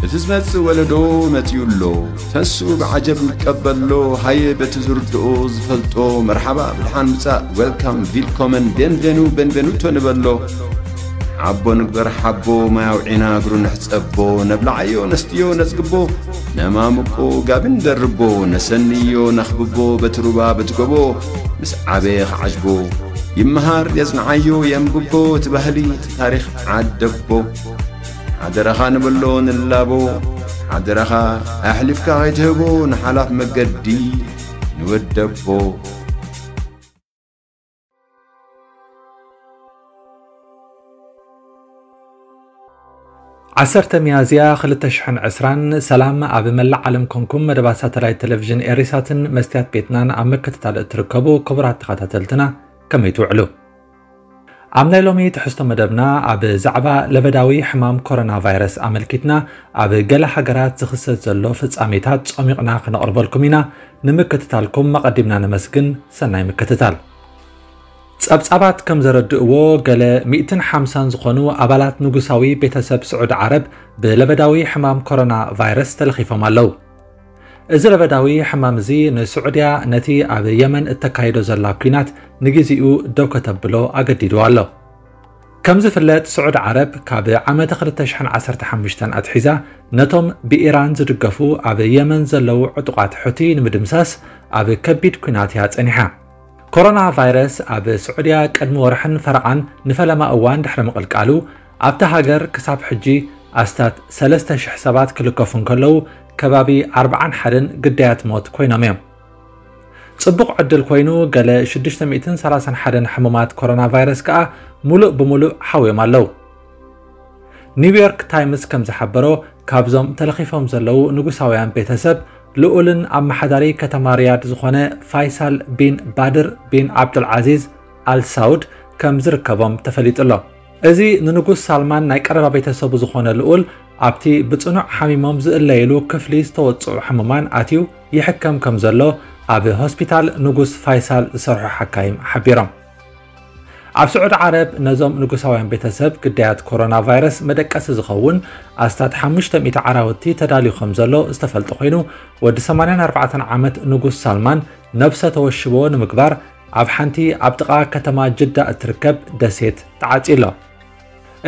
እቲ ዝመጽእ ወለዶ መጺኡ ኣሎ። ተሱ ብዓጀብ ይቀበሎ። ሃየ በቲ ዝርድኦ ዝፈልጦ መርሓባ ብድሓን ምጻእ፣ ዌልካም፣ ቪልኮመን፣ ቤንቬኑ፣ ቤንቬኑቶ ንበሎ። ሓቦ ንግበር ሓቦ፣ ማይ ኣውዒና እግሩ ንሕጸቦ። ነብልዓዮ ነስትዮ ነጽግቦ፣ ነማምቆ ጋቢ ንደርቦ። ነሰንዮ ነኽብቦ በቲ ሩባ በቲ ጎቦ፣ ምስ ዓበየ ክዓጅቦ። ይመሃር የጽንዓዮ የንብቦ፣ እቲ ባህሊ እቲ ታሪኽ ዓደቦ። ሓደራኻ ንብሎ ንላቦ፣ ሓደራኻ ኣሕሊፍካ ከይትህቦ ንሓላፍ መገዲ ንወደቦ። ዓሰርተ ሚያዝያ ክልተ ሽሕን ዕስራን። ሰላም ኣብ መላእ ዓለም ኮንኩም መደባት ሳተላይት ቴሌቪዥን ኤሪሳትን መስትያት ቤትናን ኣብ ምክትታል እትርከቡ ክቡራት ተኸታተልትና፣ ከመይ ትውዕሉ? ኣብ ናይ ሎሚ ትሕዝቶ መደብና ኣብ ዛዕባ ለበዳዊ ሕማም ኮሮና ቫይረስ ኣመልኪትና ኣብ ገለ ሃገራት ዝኽሰት ዘሎ ፍጻሜታት ጾሚቕና ክነቕርበልኩም ኢና። ንምክትታልኩም ኣቐዲምና ነመስግን። ሰናይ ምክትታል። ጸብጻባት ከም ዘረድእዎ፣ ገለ ሚእትን ሓምሳን ዝኾኑ ኣባላት ንጉሳዊ ቤተሰብ ስዑዲ ዓረብ ብለበዳዊ ሕማም ኮሮና ቫይረስ ተለኺፎም ኣለዉ። እዚ ለበዳዊ ሕማም እዚ ንስዑድያ ነቲ ኣብ የመን እተካይዶ ዘላ ኲናት ንግዜኡ ደው ከተብሎ ኣገዲድዋ ኣሎ። ከም ዝፍለጥ፣ ስዑዲ ዓረብ ካብ ዓመተ ክልተ ሽሕን ዓሰርተ ሓሙሽተን ኣትሒዛ ነቶም ብኢራን ዝድገፉ ኣብ የመን ዘለዉ ዕጡቓት ሑቲ ንምድምሳስ ኣብ ከቢድ ኲናት እያ ጸኒሓ። ኮሮና ቫይረስ ኣብ ስዑድያ ቅድሚ ወርሕን ፈረቓን ንፈለማ እዋን ድሕሪ ምቕልቃሉ፣ ኣብታ ሃገር ክሳብ ሕጂ ኣስታት ሰለስተ ሽሕ ሰባት ክልከፉ እንከለዉ፣ ከባቢ ኣርብዓን ሓደን ግዳያት ሞት ኮይኖም እዮም። ጽቡቕ ዕድል ኮይኑ፣ ገለ ሽዱሽተ ሚእትን ሰላሳን ሓደን ሕሙማት ኮሮና ቫይረስ ከኣ ሙሉእ ብሙሉእ ሓውዮም ኣለዉ። ኒውዮርክ ታይምስ ከም ዝሓበሮ፣ ካብዞም ተለኺፎም ዘለዉ ንጉሳውያን ቤተሰብ፣ ልኡልን ኣመሓዳሪ ከተማ ሪያድ ዝኾነ ፋይሳል ቢን ባድር ቢን ዓብዱልዓዚዝ ኣል ሳውድ ከም ዝርከቦም ተፈሊጡ ኣሎ። እዚ ንንጉስ ሳልማን ናይ ቀረባ ቤተሰቡ ዝኾነ ልኡል፣ ኣብቲ ብጽኑዕ ሓሚሞም ዝእለይሉ ክፍሊ ዝተወጽዑ ሕሙማን ኣትዩ ይሕከም ከም ዘሎ ኣብ ሆስፒታል ንጉስ ፋይሳል ዝሰርሑ ሓካይም ሓቢሮም። ኣብ ስዑዲ ዓረብ ነዞም ንጉሳውያን ቤተሰብ ግዳያት ኮሮና ቫይረስ መደቀሲ ዝኸውን ኣስታት ሓሙሽተ ሚእቲ ዓራውቲ ተዳልዩ ከም ዘሎ ዝተፈልጠ ኮይኑ፣ ወዲ ሰማንያን ኣርባዕተን ዓመት ንጉስ ሳልማን ነብሰ ተወሽቦ ንምግባር ኣብ ሓንቲ ኣብ ጥቓ ከተማ ጅዳ እትርከብ ደሴት ተዓጽዩ ኣሎ።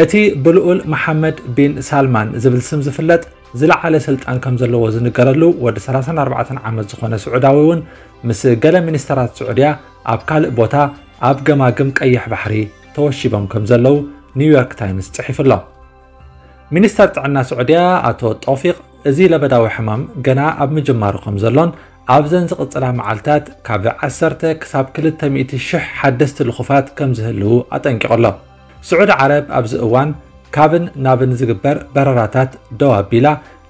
እቲ ብልኡል መሓመድ ቢን ሳልማን ዝብል ስም ዝፍለጥ ዝለዓለ ስልጣን ከም ዘለዎ ዝንገረሉ ወዲ ሰላሳን ኣርባዕተን ዓመት ዝኾነ ስዑዳዊ እውን ምስ ገለ ሚኒስተራት ስዑድያ ኣብ ካልእ ቦታ ኣብ ገማግም ቀይሕ ባሕሪ ተወሺቦም ከም ዘለዉ ኒውዮርክ ታይምስ ጽሒፉ ኣሎ። ሚኒስተር ጥዕና ስዑድያ ኣቶ ጦፊቅ፣ እዚ ለበዳዊ ሕማም ገና ኣብ ምጅማሩ ከም ዘሎን ኣብዘን ዝቕጽላ መዓልታት ካብ ዓሰርተ ክሳብ ክልተ ሚእቲ ሽሕ ሓደስቲ ልኹፋት ከም ዝህልዉ ኣጠንቂቑ ኣሎ። ስዑዲ ዓረብ ኣብዚ እዋን ካብን ናብን ዝግበር በረራታት ደው ኣቢላ፣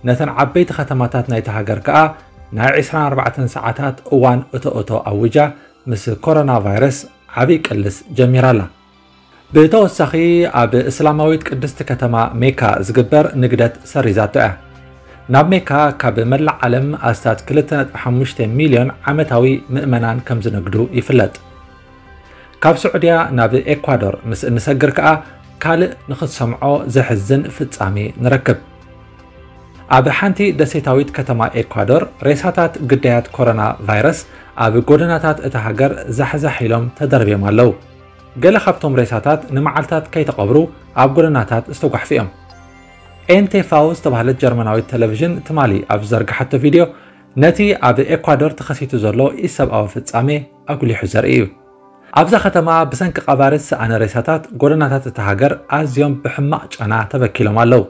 ነተን ዓበይቲ ከተማታት ናይቲ ሃገር ከኣ ናይ ዕስራን ኣርባዕተን ሰዓታት እዋን እቶ እቶ ኣዊጃ፣ ምስ ኮሮና ቫይረስ ዓብይ ቅልስ ጀሚራ ኣላ። ብተወሳኺ፣ ኣብ እስላማዊት ቅድስቲ ከተማ ሜካ ዝግበር ንግደት ሰሪዛቶ እያ። ናብ ሜካ ካብ መላእ ዓለም ኣስታት ክልተ ነጥቢ ሓሙሽተ ሚልዮን ዓመታዊ ምእመናን ከም ዝነግዱ ይፍለጥ። ካብ ስዑድያ ናብ ኤኳዶር ምስ እንሰግር ከኣ ካልእ ንኽትሰምዖ ዘሕዝን ፍጻሜ ንረክብ። ኣብ ሓንቲ ደሴታዊት ከተማ ኤኳዶር፣ ሬሳታት ግዳያት ኮሮና ቫይረስ ኣብ ጎደናታት እታ ሃገር ዛሕዛሕ ኢሎም ተደርብዮም ኣለዉ። ገለ ካብቶም ሬሳታት ንመዓልታት ከይተቐብሩ ኣብ ጎደናታት ዝተጓሕፉ እዮም። ኤንቴፋው ዝተባህለት ጀርመናዊት ቴሌቪዥን ትማሊ ኣብ ዝዘርግሓቶ ቪድዮ፣ ነቲ ኣብ ኤኳዶር ተኸሲቱ ዘሎ ኢሰብኣዊ ፍጻሜ ኣጉሊሑ ዘርኢ እዩ። ኣብዛ ከተማ ብሰንኪ ቀባሪ ዝሰኣነ ሬሳታት፣ ጎደናታት እታ ሃገር ኣዝዮም ብሕማቕ ጨና ተበኪሎም ኣለዉ።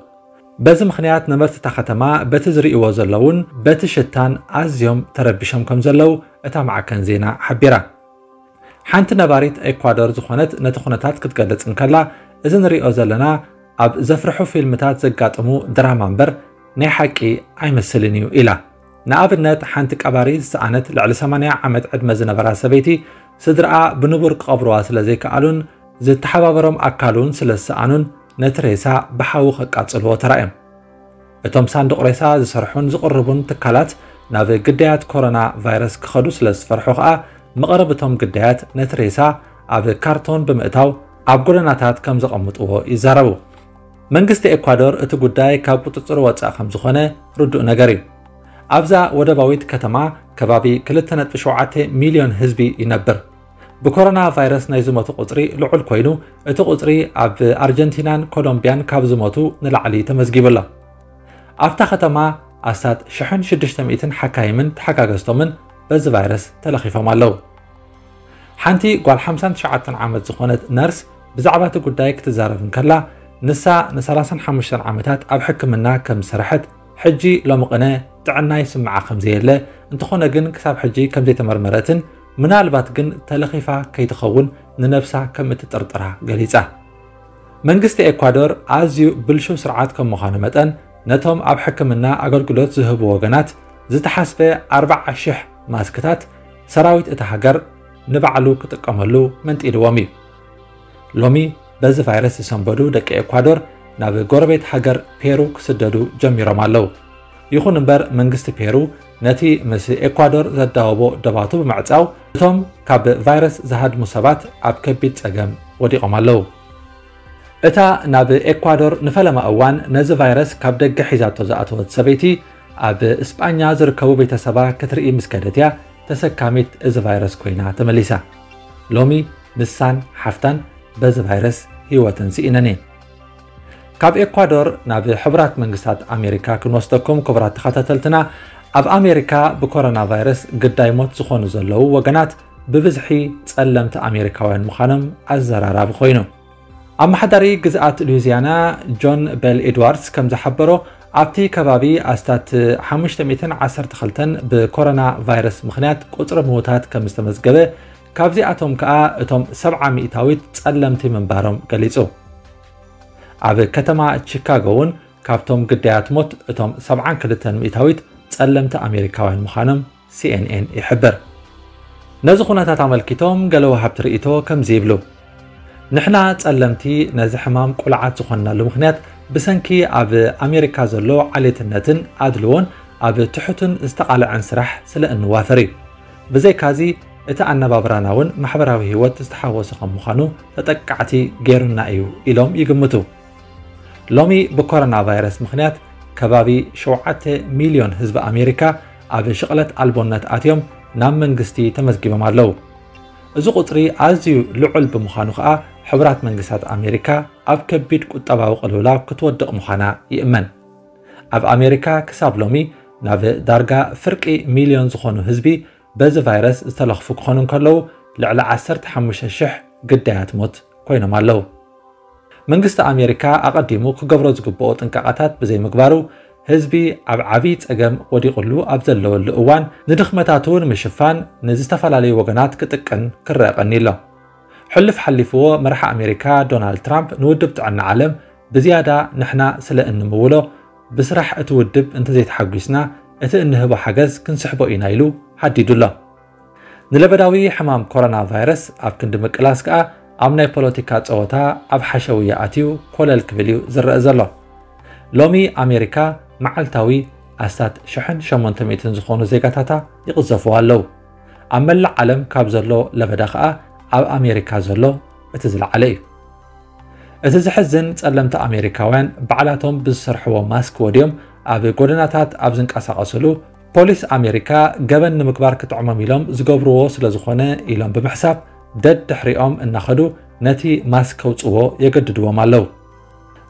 በዚ ምኽንያት፣ ነበርቲ እታ ከተማ በቲ ዝርእይዎ ዘለዉን በቲ ሽታን ኣዝዮም ተረቢሾም ከም ዘለዉ እታ ማዕከን ዜና ሓቢራ። ሓንቲ ነባሪት ኤኳዶር ዝኾነት ነቲ ኩነታት ክትገልጽ እንከላ፣ "እዚ ንርእዮ ዘለና ኣብ ዘፍርሑ ፊልምታት ዘጋጥሙ ድራማ እምበር ናይ ሓቂ ኣይመስልን እዩ" ኢላ። ንኣብነት፣ ሓንቲ ቀባሪ ዝሰኣነት ልዕሊ ሰማንያ ዓመት ዕድመ ዝነበራ ሰበይቲ፣ ስድራኣ ብንቡር ክቐብርዋ ስለ ዘይከኣሉን ዝተሓባበሮም ኣካል እውን ስለ ዝሰኣኑን፣ ነቲ ሬሳ ብሓዊ ከቃጽልዎ ተራእዮም። እቶም ሳንዱቕ ሬሳ ዝሰርሑን ዝቕርቡን ትካላት፣ ናብ ግዳያት ኮሮና ቫይረስ ክኸዱ ስለ ዝፈርሑ ከኣ፣ መቕረቢ እቶም ግዳያት ነቲ ሬሳ ኣብ ካርቶን ብምእታው ኣብ ጎደናታት ከም ዘቐምጥዎ ይዛረቡ። መንግስቲ ኤኳዶር እቲ ጉዳይ ካብ ቁጽጽሩ ወጻኢ ከም ዝኾነ ርዱእ ነገር እዩ። ኣብዛ ወደባዊት ከተማ ከባቢ ክልተ ነጥቢ ሸውዓተ ሚልዮን ህዝቢ ይነብር። ብኮሮና ቫይረስ ናይ ዝሞቱ ቁጽሪ ልዑል ኮይኑ፣ እቲ ቁጽሪ ኣብ ኣርጀንቲናን ኮሎምቢያን ካብ ዝሞቱ ንላዕሊ ተመዝጊቡ ኣሎ። ኣብታ ከተማ ኣስታት ሽሕን ሽዱሽተ ሚእትን ሓካይምን ተሓጋገዝቶምን በዚ ቫይረስ ተለኺፎም ኣለዉ። ሓንቲ ጓል ሓምሳን ትሽዓተን ዓመት ዝኾነት ነርስ ብዛዕባ እቲ ጉዳይ ክትዛረብ እንከላ፣ ንሳ ንሰላሳን ሓሙሽተን ዓመታት ኣብ ሕክምና ከም ዝሰርሐት፣ ሕጂ ሎሚ ቅነ ጥዕና ይስምዓ ከም ዘየለ፣ እንተኾነ ግን ክሳብ ሕጂ ከም ዘይተመርመረትን ምናልባት ግን ተለኺፋ ከይትኸውን ንነብሳ ከም እትጥርጥራ ገሊጻ። መንግስቲ ኤኳዶር ኣዝዩ ብልሹው ስርዓት ከም ምዃኑ መጠን፣ ነቶም ኣብ ሕክምና ኣገልግሎት ዝህቡ ወገናት ዝተሓስበ ኣርባዓ ሽሕ ማስክታት ሰራዊት እታ ሃገር ንባዕሉ ክጥቀመሉ መንጢልዎም እዩ። ሎሚ በዚ ቫይረስ ዝሰንበዱ ደቂ ኤኳዶር ናብ ጎረቤት ሃገር ፔሩ ክስደዱ ጀሚሮም ኣለዉ። ይኹን እምበር መንግስቲ ፔሩ ነቲ ምስ ኤኳዶር ዘዳወቦ ደባቱ ብምዕጻው፣ እቶም ካብ ቫይረስ ዝሃድሙ ሰባት ኣብ ከቢድ ጸገም ወዲቖም ኣለዉ። እታ ናብ ኤኳዶር ንፈለማ እዋን ነዚ ቫይረስ ካብ ደገ ሒዛቶ ዝኣተወት ሰበይቲ፣ ኣብ እስጳኛ ዝርከቡ ቤተሰባ ክትርኢ ምስ ከደት እያ ተሰካሚት እዚ ቫይረስ ኮይና ተመሊሳ። ሎሚ ንሳን ሓፍታን በዚ ቫይረስ ህይወተን ስኢነን እየን። ካብ ኤኳዶር ናብ ሕቡራት መንግስታት ኣሜሪካ ክንወስደኩም ክቡራት ተኸታተልትና፣ ኣብ ኣሜሪካ ብኮሮና ቫይረስ ግዳይ ሞት ዝኾኑ ዘለዉ ወገናት ብብዝሒ ጸለምቲ ኣሜሪካውያን ምዃኖም ኣዘራራቢ ኮይኑ። ኣመሓዳሪ ግዝኣት ሉዊዚያና ጆን ቤል ኤድዋርድስ ከም ዝሓበሮ፣ ኣብቲ ከባቢ ኣስታት ሓሙሽተ ሚእትን ዓሰርተ ክልተን ብኮሮና ቫይረስ ምኽንያት ቁጽሪ ምዉታት ከም ዝተመዝገበ፣ ካብዚኣቶም ከኣ እቶም ሰብዓ ሚእታዊት ጸለምቲ ምንባሮም ገሊጹ። ኣብ ከተማ ቺካጎ እውን ካብቶም ግዳያት ሞት እቶም ሰብዓን ክልተን ሚእታዊት ጸለምቲ ኣሜሪካውያን ምዃኖም ሲኤንኤን ይሕብር። ነዚ ኩነታት ኣመልኪቶም ገለ ወሃብቲ ርእይቶ ከምዚ ይብሉ። ንሕና ጸለምቲ ነዚ ሕማም ቁልዓት ዝኾንናሉ ምኽንያት ብሰንኪ ኣብ ኣሜሪካ ዘሎ ዓሌትነትን ኣድልዎን ኣብ ትሑትን ዝተቓልዐን ስራሕ ስለ እንዋፈር እዩ። ብዘይካዚ እቲ ኣነባብራና እውን ማሕበራዊ ህይወት ዝተሓወሰ ከም ምዃኑ ተጠቃዕቲ ገይሩና እዩ ኢሎም ይግምቱ። ሎሚ ብኮሮና ቫይረስ ምኽንያት ከባቢ ሸውዓተ ሚልዮን ህዝቢ ኣሜሪካ ኣብ ሽቕለት ኣልቦነት ኣትዮም ናብ መንግስቲ ተመዝጊቦም ኣለዉ። እዚ ቁጽሪ ኣዝዩ ልዑል ብምዃኑ ከኣ ሕቡራት መንግስታት ኣሜሪካ ኣብ ከቢድ ቁጠባዊ ቅልውላው ክትወድቕ ምዃና ይእመን። ኣብ ኣሜሪካ ክሳብ ሎሚ ናብ ዳርጋ ፍርቂ ሚልዮን ዝኾኑ ህዝቢ በዚ ቫይረስ ዝተለኽፉ ክኾኑ እንከለዉ፣ ልዕሊ ዓሰርተ ሓሙሽተ ሽሕ ግዳያት ሞት ኮይኖም ኣለዉ። መንግስቲ ኣሜሪካ ኣቐዲሙ ክገብሮ ዝግብኦ ጥንቃቐታት ብዘይምግባሩ፣ ህዝቢ ኣብ ዓብዪ ጸገም ወዲቑሉ ኣብ ዘለወሉ እዋን፣ ንድኽመታቱ ንምሽፋን ንዝተፈላለዩ ወገናት ክጥቅን ክረአ ቀኒሎ። ሕሉፍ ሓሊፍዎ መራሒ ኣሜሪካ ዶናልድ ትራምፕ ንውድብ ጥዕና ዓለም ብዝያዳ ንሕና ስለ እንምውሎ፣ ብስራሕ እቲ ውድብ እንተዘይተሓጒስና እቲ እንህቦ ሓገዝ ክንስሕቦ ኢና ኢሉ ሃዲዱ ኣሎ። ንለበዳዊ ሕማም ኮሮና ቫይረስ ኣብ ክንዲ ምቅላስ ከኣ ኣብ ናይ ፖለቲካ ጸወታ ኣብ ሓሸውያ ኣትዩ ኮለል ክብል እዩ ዝረአ ዘሎ። ሎሚ ኣሜሪካ መዓልታዊ ኣስታት ሽሕን ሸሞንተ ሚእትን ዝኾኑ ዜጋታታ ይቕዘፉዋ ኣለዉ። ኣብ መላእ ዓለም ካብ ዘሎ ለበዳ ከኣ ኣብ ኣሜሪካ ዘሎ እቲ ዝለዓለ እዩ። እቲ ዝሕዝን ጸለምቲ ኣሜሪካውያን ባዕላቶም ብዝሰርሕዎ ማስክ ወድዮም ኣብ ጎደናታት ኣብ ዝንቀሳቐስሉ ፖሊስ ኣሜሪካ ገበን ንምግባር ክጥዕሞም ኢሎም ዝገብርዎ ስለ ዝኾነ ኢሎም ብምሕሳብ ደድሕሪኦም እናኸዱ ነቲ ማስክ ከውጽዎ የገድድዎም ኣለዉ።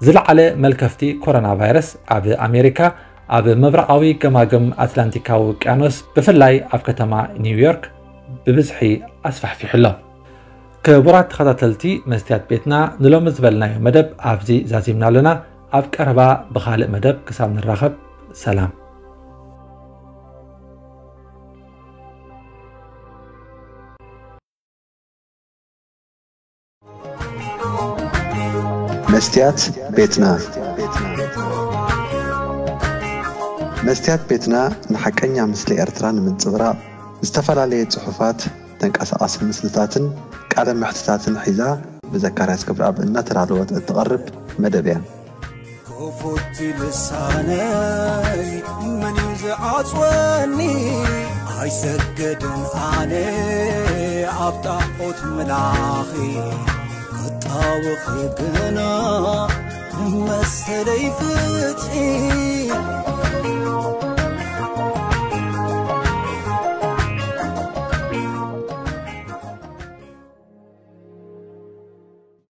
ዝለዓለ መልከፍቲ ኮሮና ቫይረስ ኣብ ኣሜሪካ ኣብ ምብራቓዊ ገማግም ኣትላንቲካዊ ውቅያኖስ ብፍላይ ኣብ ከተማ ኒውዮርክ ብብዝሒ ኣስፋሕፊሑ ኣሎ። ክቡራት ተኸታተልቲ መስትያት ቤትና ንሎሚ ዝበልናዮ መደብ ኣብዚ ዛዚምና ኣለና። ኣብ ቀረባ ብኻልእ መደብ ክሳብ ንራኸብ ሰላም። መስትያት ቤትና። መስትያት ቤትና ንሓቀኛ ምስሊ ኤርትራ ንምንጽብራቕ ዝተፈላለየ ጽሑፋት፣ ተንቀሳቓሲ ምስልታትን ቃለ መሕትታትን ሒዛ ብዘካርያስ ክብረኣብ እናተዳለወት እትቐርብ መደብ እያ። ክፉት ልሳነይ መን እዩ ዝዓጽወኒ? ኣይሰግድን ኣነ ኣብ ጣዖት ምላኺ ክጣወኺ ግና መሰለይ ፍትሒ